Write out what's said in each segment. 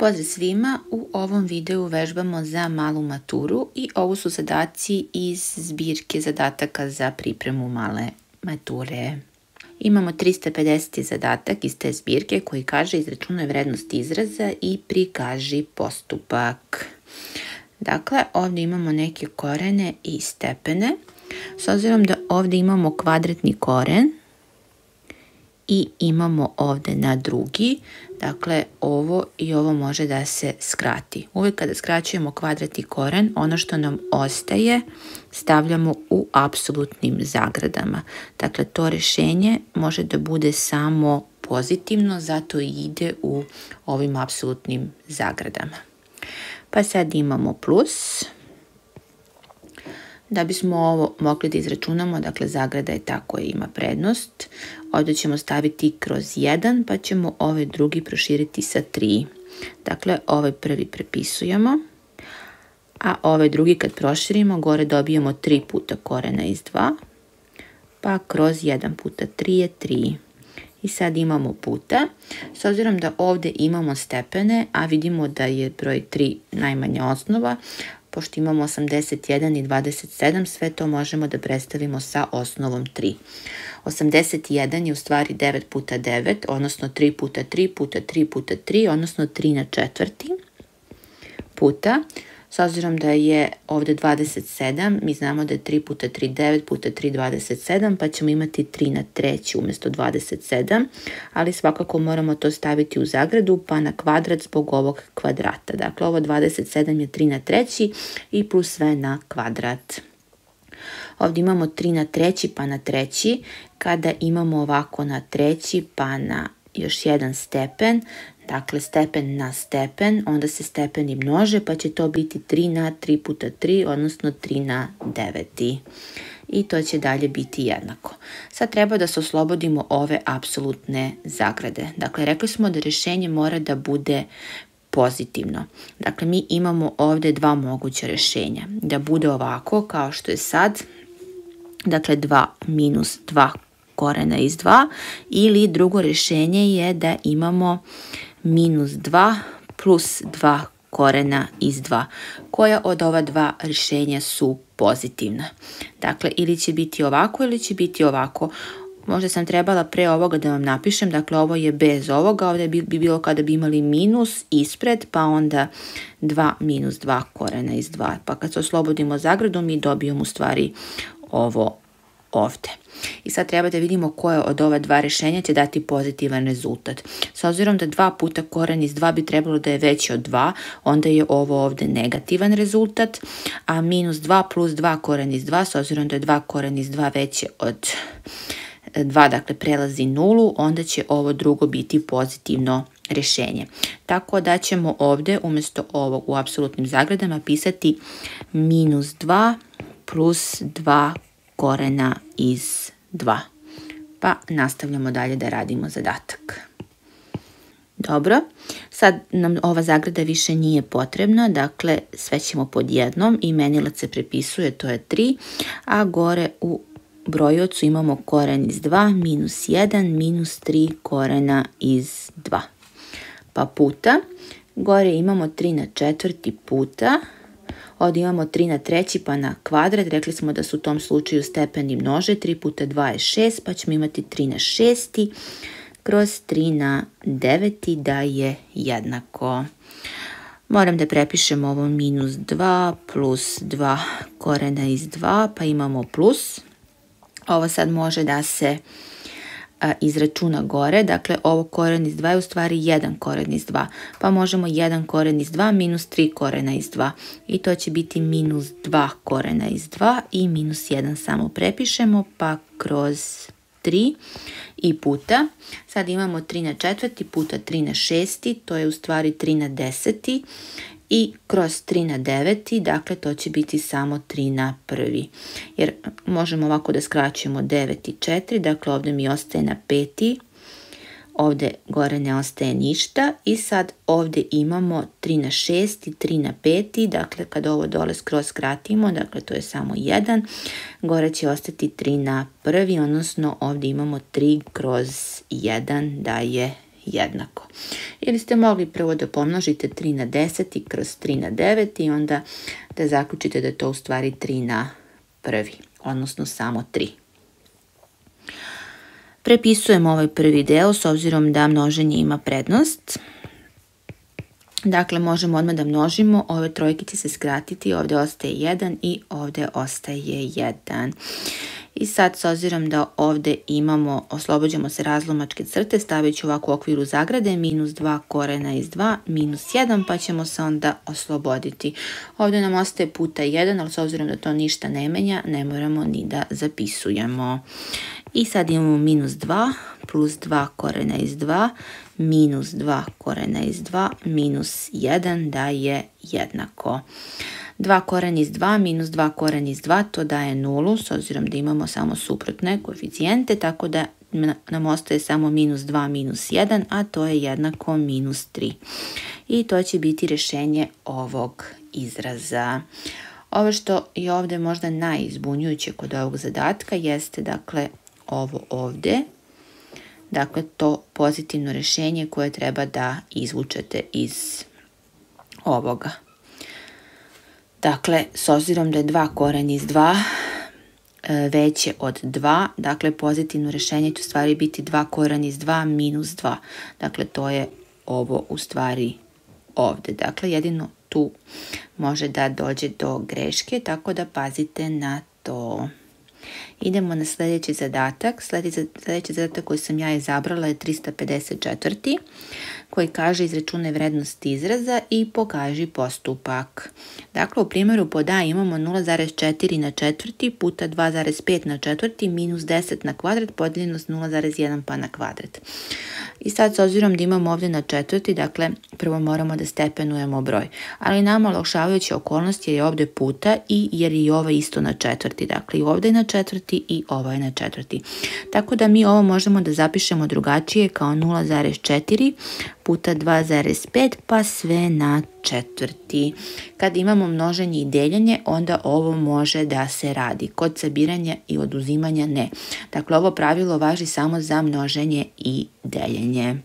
Pozdrav svima, u ovom videu vežbamo za malu maturu i ovo su zadaci iz zbirke zadataka za pripremu male mature. Imamo 350 zadatak iz te zbirke koji kaže izračunaj vrednost izraza i prikaži postupak. Dakle, ovdje imamo neke korene i stepene. S obzirom da ovdje imamo kvadratni koren i imamo ovdje na drugi, dakle ovo i ovo može da se skrati. Uvijek kada skraćujemo kvadratni koren, ono što nam ostaje stavljamo u apsolutnim zagradama. Dakle, to rješenje može da bude samo pozitivno, zato i ide u ovim apsolutnim zagradama. Pa sad imamo plus. Da bismo ovo mogli da izračunamo, dakle zagrada je ta koja ima prednost. Ovdje ćemo staviti kroz 1, pa ćemo ovaj drugi proširiti sa 3. Dakle, ovaj prvi prepisujemo, a ovaj drugi kad proširimo, gore dobijemo 3 puta korena iz 2, pa kroz 1 puta 3 je 3. I sad imamo puta. S obzirom da ovdje imamo stepene, a vidimo da je broj 3 najmanja osnova, pošto imamo 81 i 27, sve to možemo da predstavimo sa osnovom 3. 81 je u stvari 9 puta 9, odnosno 3 puta 3 puta 3 puta 3, odnosno 3 na četvrti puta. S obzirom da je ovdje 27, mi znamo da je 3 puta 3 9 puta 3 27, pa ćemo imati 3 na treći umjesto 27, ali svakako moramo to staviti u zagradu pa na kvadrat zbog ovog kvadrata. Dakle, ovo 27 je 3 na treći i plus sve na kvadrat. Ovdje imamo 3 na treći pa na treći, kada imamo ovako na treći pa na još jedan stepen, dakle stepen na stepen, onda se stepeni množe pa će to biti 3 na 3 puta 3, odnosno 3 na 9. I to će dalje biti jednako. Sad treba da se oslobodimo ove apsolutne zagrade. Dakle, rekli smo da rješenje mora da bude pozitivno. Dakle, mi imamo ovdje dva moguća rješenja. Da bude ovako kao što je sad, dakle 2 minus 2 korena iz 2, ili drugo rješenje je da imamo minus 2 plus 2 korena iz 2. Koja od ova dva rješenja su pozitivna? Dakle, ili će biti ovako ili će biti ovako. Možda sam trebala pre ovoga da vam napišem, dakle ovo je bez ovoga, ovdje bi bilo kada bi imali minus ispred, pa onda 2 minus 2 korena iz 2. Pa kad se oslobodimo zagradu, mi dobijemo u stvari ovo ovdje. I sad treba da vidimo koje od ova dva rješenja će dati pozitivan rezultat. S obzirom da 2 puta koren iz 2 bi trebalo da je veći od 2, onda je ovo ovdje negativan rezultat, a minus 2 plus 2 koren iz 2, s obzirom da je 2 koren iz 2 veće od 2, dakle prelazi nulu, onda će ovo drugo biti pozitivno rješenje. Tako da ćemo ovdje umjesto ovog u apsolutnim zagradama pisati minus 2 plus 2 korena iz 2. Pa nastavljamo dalje da radimo zadatak. Dobro, sad nam ova zagrada više nije potrebna, dakle sve ćemo pod jednom, imenilac se prepisuje, to je 3, a gore u brojiocu imamo koren iz 2, minus 1, minus 3 korena iz 2. Pa puta, gore imamo 3 na četvrti puta, ovdje imamo 3 na treći pa na kvadrat, rekli smo da su u tom slučaju stepeni množe, 3 puta 2 je 6, pa ćemo imati 3 na šesti kroz 3 na 9 da je jednako. Moram da prepišem ovo minus 2 plus 2 korena iz 2, pa imamo plus. Ovo sad može da se izračuna gore, dakle ovo koren iz 2 je u stvari 1 koren iz 2, pa možemo 1 koren iz 2 minus 3 korena iz 2 i to će biti minus 2 korena iz 2 i minus 1 samo prepišemo, pa kroz 3 i puta. Sad imamo 3 na četvrti puta 3 na šesti, to je u stvari 3 na deseti i kroz 3 na 9, dakle to će biti samo 3 na prvi. Jer možemo ovako da skraćujemo 9 i 4, dakle ovdje mi ostaje na 5, ovdje gore ne ostaje ništa i sad ovdje imamo 3 na 6 i 3 na 5, dakle kad ovo dole skroz skratimo, dakle to je samo 1, gore će ostati 3 na prvi, odnosno ovdje imamo 3 kroz 1 da je jednako. Ili ste mogli prvo da pomnožite 3 na 10 i kroz 3 na 9 i onda da zaključite da je to u stvari 3 na prvi, odnosno samo 3. Prepisujemo ovaj prvi deo s obzirom da množenje ima prednost. Dakle, možemo odmah da množimo, ove trojke će se skratiti, ovdje ostaje 1 i ovdje ostaje 1. I sad, s obzirom da ovdje imamo, oslobađamo se razlomačke crte, stavit ću ovako u okviru zagrade, minus 2 korena iz 2, minus 1, pa ćemo se onda osloboditi. Ovdje nam ostaje puta 1, ali s obzirom da to ništa ne menja, ne moramo ni da zapisujemo. I sad imamo minus 2 plus 2 korena iz 2, minus 2 korena iz 2, minus 1 daje jednako. 2 koren iz 2 minus 2 koren iz 2, to daje 0, s obzirom da imamo samo suprotne koeficijente, tako da nam ostaje samo minus 2 minus 1, a to je jednako minus 3. I to će biti rješenje ovog izraza. Ovo što je ovdje možda najzbunjujuće kod ovog zadatka jeste dakle ovo ovdje. Dakle, to pozitivno rješenje koje treba da izvučete iz ovoga. Dakle, s obzirom da je 2 koren iz 2 veće od 2, dakle pozitivno rješenje će u stvari biti 2 koren iz 2 minus 2. Dakle, to je ovo u stvari ovdje. Dakle, jedino tu može da dođe do greške, tako da pazite na to. Idemo na sljedeći zadatak. Sljedeći zadatak koji sam ja izabrala je 354. koji kaže izračunaj vrednost izraza i pokaži postupak. Dakle, u primjeru pod A imamo 0,4 na četvrti puta 2,5 na četvrti minus 10 na kvadrat podijeljeno s 0,1 pa na kvadrat. I sad, s obzirom da imamo ovdje na četvrti, dakle, prvo moramo da stepenujemo broj. Ali nama olakšavajuća okolnost je ovdje puta i jer je ovo isto na četvrti. Dakle, i ovdje je na četvrti i ovo je na četvrti. Tako da mi ovo možemo da zapišemo drugačije kao 0,4 puta 2,5 pa sve na četvrti. Kad imamo množenje i deljenje, onda ovo može da se radi. Kod sabiranja i oduzimanja ne. Dakle, ovo pravilo važi samo za množenje i deljenje.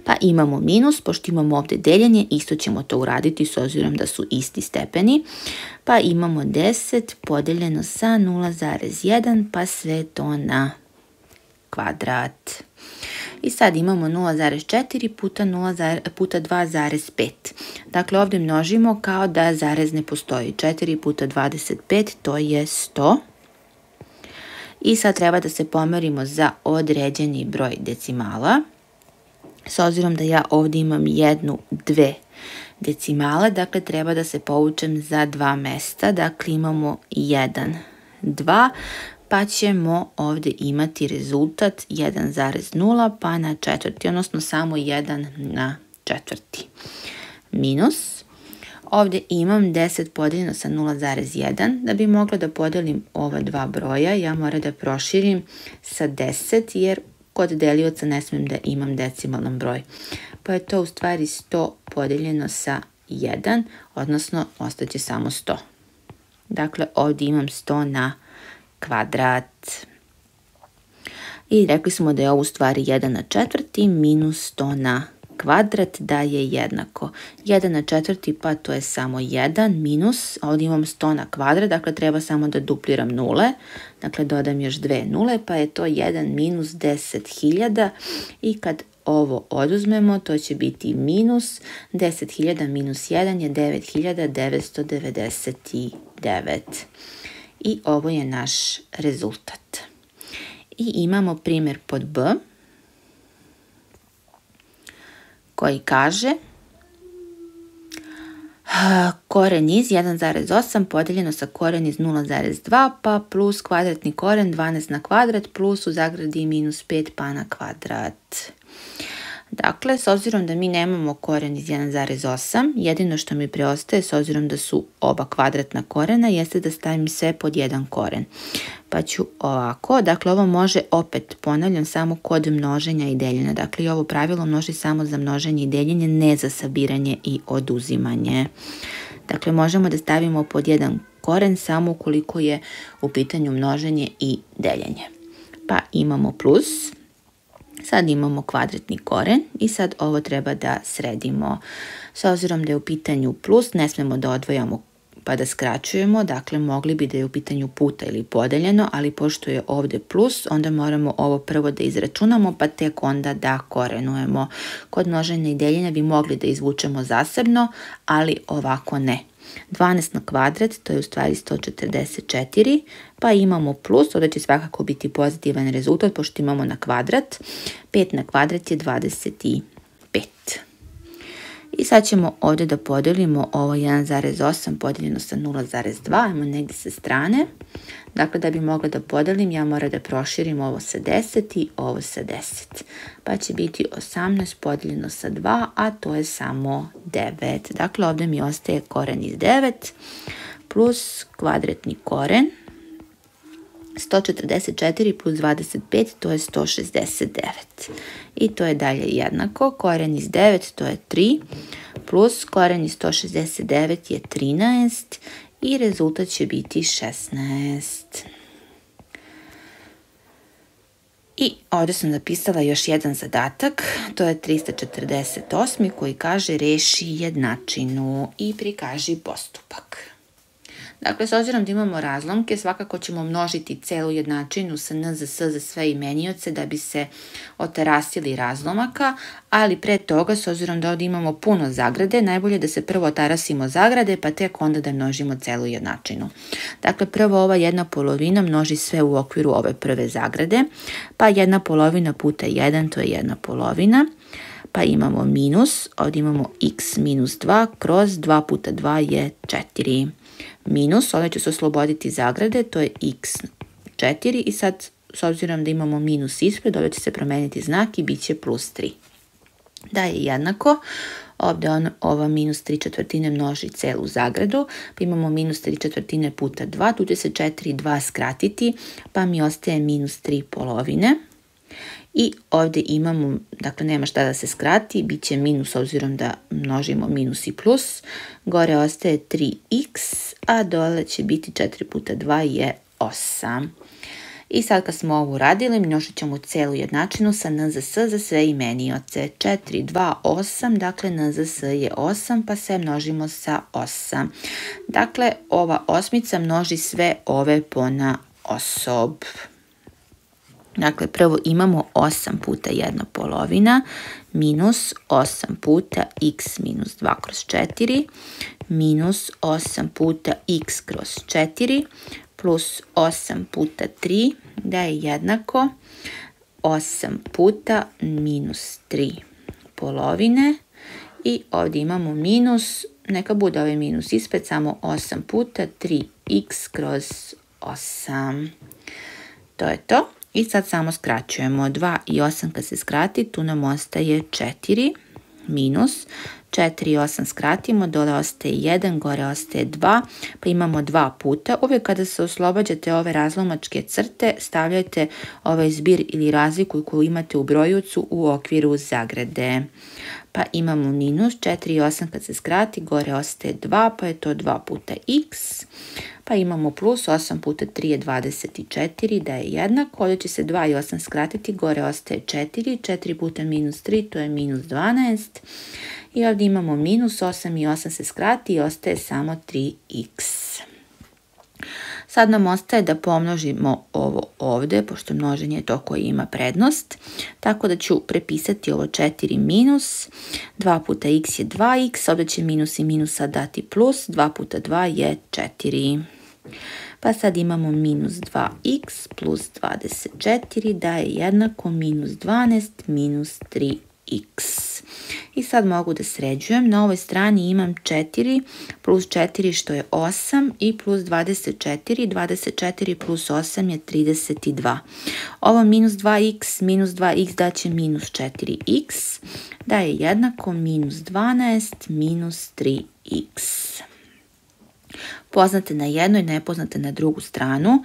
Pa imamo minus, pošto imamo ovdje deljenje, isto ćemo to uraditi s obzirom da su isti stepeni. Pa imamo 10 podeljeno sa 0,1 pa sve to na kvadrat. I sad imamo 0,4 puta 2,5. Dakle, ovdje množimo kao da zarez ne postoji. 4 puta 25, to je 100. I sad treba da se pomerimo za određeni broj decimala. S obzirom da ja ovdje imam 1, 2 decimale, dakle treba da se povučem za 2 mjesta. Dakle, imamo 1, 2, pa ćemo ovdje imati rezultat 1,0 pa na četvrti, odnosno samo 1 na četvrti. Minus, ovdje imam 10 podijeljeno sa 0,1. Da bi mogla da podelim ova dva broja, ja moram da proširim sa 10, jer kod delioca ne smijem da imam decimalan broj. Pa je to u stvari 100 podijeljeno sa 1, odnosno ostaće samo 100. Dakle, ovdje imam 100 na kvadrat. I rekli smo da je ovo u stvari 1 na četvrti minus 100 na kvadrat daje jednako. 1 na četvrti pa to je samo 1 minus, ovdje imam 100 na kvadrat, dakle treba samo da dupliram nule. Dakle, dodam još 2 nule pa je to 1 minus 10.000 i kad ovo oduzmemo, to će biti minus 10.000 minus 1 je 9.999. I ovo je naš rezultat. I imamo primjer pod B koji kaže koren iz 1,8 podijeljeno sa koren iz 0,2 pa plus kvadratni koren 12 na kvadrat plus u zagradi minus 5 pa na kvadrat. Dakle, s obzirom da mi nemamo koren iz 1,8, jedino što mi preostaje, s obzirom da su oba kvadratna korena, jeste da stavim sve pod jedan koren. Pa ću ovako, dakle ovo može opet, ponavljam, samo kod množenja i deljenja. Dakle, i ovo pravilo množi samo za množenje i deljenje, ne za sabiranje i oduzimanje. Dakle, možemo da stavimo pod jedan koren samo ukoliko je u pitanju množenje i deljenje. Pa imamo plus. Sad imamo kvadratni koren i sad ovo treba da sredimo. S obzirom da je u pitanju plus, ne smemo da odvojamo pa da skraćujemo, dakle mogli bi da je u pitanju puta ili podeljeno, ali pošto je ovdje plus, onda moramo ovo prvo da izračunamo, pa tek onda da korenujemo. Kod množenja i deljenja bi mogli da izvučemo zasebno, ali ovako ne. 12 na kvadrat, to je u stvari 144, pa imamo plus, ovdje će svakako biti pozitivan rezultat, pošto imamo na kvadrat. 5 na kvadrat je 25. I sad ćemo ovdje da podelimo ovo 1,8 podijeljeno sa 0,2, ajmo negdje sa strane. Dakle, da bi mogla da podelim, ja moram da proširim ovo sa 10 i ovo sa 10. Pa će biti 18 podijeljeno sa 2, a to je samo 9. Dakle, ovdje mi ostaje koren iz 9 plus kvadratni koren. 144 plus 25, to je 169. I to je dalje jednako. Koren iz 9, to je 3, plus koren iz 169 je 13 i rezultat će biti 16. I ovdje sam napisala još jedan zadatak, to je 348. koji kaže reši jednačinu i prikaži postupak. Dakle, s obzirom da imamo razlomke, svakako ćemo množiti celu jednačinu sa n za s za sve imenioce da bi se otarasili razlomaka, ali pre toga, s obzirom da ovdje imamo puno zagrade, najbolje da se prvo otarasimo zagrade, pa tek onda da množimo celu jednačinu. Dakle, prvo ova 1/2 množi sve u okviru ove prve zagrade, pa 1/2 puta 1, to je 1/2. Pa imamo minus, ovdje imamo x minus 2 kroz 2 puta 2 je 4. Minus, ovdje ću se osloboditi zagrade, to je x4 i sad s obzirom da imamo minus ispred, ovdje će se promijeniti znak i bit će plus 3. Da je jednako, ovdje ova minus 3/4 množi celu zagradu, pa imamo minus 3/4 puta 2, tu će se 4 i 2 skratiti, pa mi ostaje minus 3/2. I ovdje imamo, dakle nema šta da se skrati, bit će minus obzirom da množimo minus i plus. Gore ostaje 3x, a dole će biti 4 puta 2 je 8. I sad kad smo ovo uradili, množit ćemo celu jednačinu sa n za s za sve imenioce. 4, 2, 8, dakle n za s je 8, pa sve množimo sa 8. Dakle, ova osmica množi sve ove ponaosob. Dakle, prvo imamo 8 puta 1/2 minus 8 puta x minus 2 kroz 4 minus 8 puta x kroz 4 plus 8 puta 3 da je jednako 8 puta minus 3/2 i ovdje imamo minus, neka bude ovaj minus ispred, samo 8 puta 3x kroz 8. To je to. I sad samo skraćujemo 2 i 8 kad se skrati, tu nam ostaje 4 minus 4 i 8 skratimo, dole ostaje 1, gore ostaje 2, pa imamo 2 puta. Uvijek kada se oslobađate ove razlomačke crte, stavljajte ovaj zbir ili razliku koju imate u brojucu u okviru zagrade. Pa imamo minus 4 i 8 kad se skrati, gore ostaje 2, pa je to 2 puta x. Pa imamo plus 8 puta 3 je 24, da je jednako. Ovdje će se 2 i 8 skratiti, gore ostaje 4, 4 puta minus 3, to je minus 12. I ovdje imamo minus 8 i 8 se skrati i ostaje samo 3x. Sad nam ostaje da pomnožimo ovo ovdje, pošto množenje je to koje ima prednost. Tako da ću prepisati ovo 4 minus, 2 puta x je 2x, ovdje će minus i minusa dati plus, 2 puta 2 je 4. Pa sad imamo minus 2x plus 24 da je jednako minus 12 minus 3x. I sad mogu da sređujem. Na ovoj strani imam 4 plus 4 što je 8 i plus 24. 24 plus 8 je 32. Ovo minus 2x daće minus 4x da je jednako minus 12 minus 3x. Poznate na jednu i nepoznate na drugu stranu.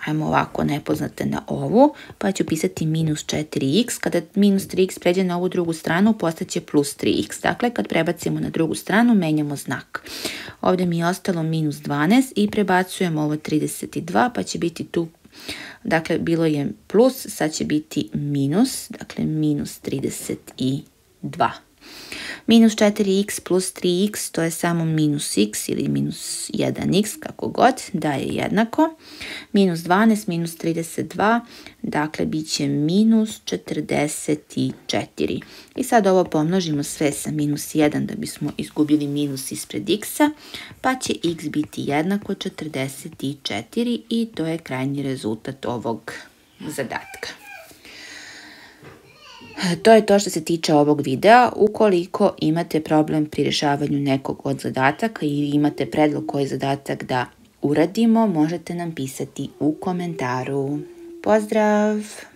Ajmo ovako, nepoznate na ovu, pa ću pisati minus 4x. Kada minus 3x pređe na ovu drugu stranu, postaće plus 3x. Dakle, kad prebacimo na drugu stranu, menjamo znak. Ovdje mi je ostalo minus 12 i prebacujemo ovo 32, pa će biti tu Dakle, bilo je plus, sad će biti minus, dakle minus 32. Minus 4x plus 3x, to je samo minus x ili minus 1x, kako god, da je jednako. Minus 12, minus 32, dakle bit će minus 44. I sad ovo pomnožimo sve sa minus 1 da bismo izgubili minus ispred x-a, pa će x biti jednako 44 i to je krajnji rezultat ovog zadatka. To je to što se tiče ovog videa. Ukoliko imate problem pri rješavanju nekog od zadataka i imate predlog koji zadatak da uradimo, možete nam pisati u komentaru. Pozdrav!